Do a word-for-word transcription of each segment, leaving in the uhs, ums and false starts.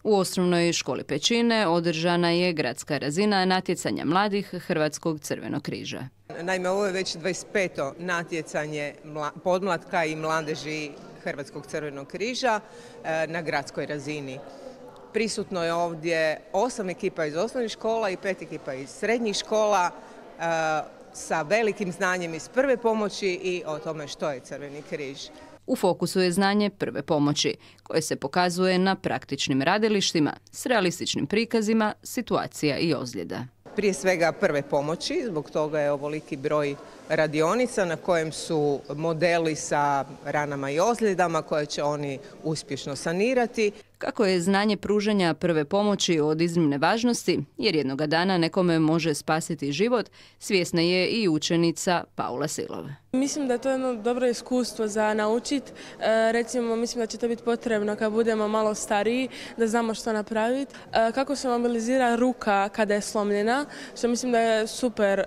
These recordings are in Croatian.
U osnovnoj školi Pećine održana je gradska razina natjecanja mladih Hrvatskog crvenog križa. Naime, ovo je već dvadeset peto natjecanje podmlatka i mladeži Hrvatskog crvenog križa na gradskoj razini. Prisutno je ovdje osam ekipa iz osnovnih škola i pet ekipa iz srednjih škola sa velikim znanjem iz prve pomoći i o tome što je Crveni križ. U fokusu je znanje prve pomoći, koje se pokazuje na praktičnim radilištima s realističnim prikazima situacija i ozljeda. Prije svega prve pomoći, zbog toga je ovoliki broj radionica na kojem su modeli sa ranama i ozljedama koje će oni uspješno sanirati. Kako je znanje pružanja prve pomoći od iznimne važnosti, jer jednoga dana nekome može spasiti život, svjesna je i učenica Paula Silov. Mislim da je to jedno dobro iskustvo za naučiti. E, recimo, mislim da će to biti potrebno kad budemo malo stariji, da znamo što napraviti. E, kako se mobilizira ruka kada je slomljena, što mislim da je super e,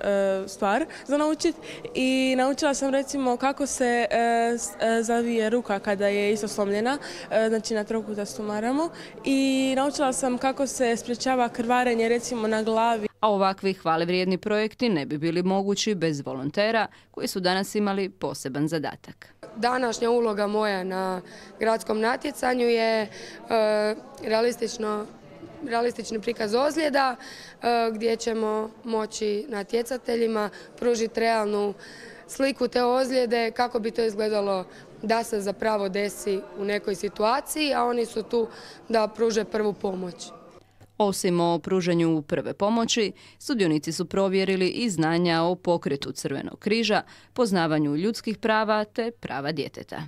stvar za naučiti. I naučila sam recimo kako se e, zavije ruka kada je isto slomljena, e, znači na trokutastu maramu. I naučila sam kako se sprječava krvarenje recimo na glavi. A ovakvi hvalevrijedni projekti ne bi bili mogući bez volontera koji su danas imali poseban zadatak. Današnja uloga moja na gradskom natjecanju je e, realistično, realistični prikaz ozljeda e, gdje ćemo moći natjecateljima pružiti realnu sliku te ozljede, kako bi to izgledalo da se zapravo desi u nekoj situaciji, a oni su tu da pruže prvu pomoć. Osim o pružanju prve pomoći, sudionici su provjerili i znanja o pokretu Crvenog križa, poznavanju ljudskih prava te prava djeteta.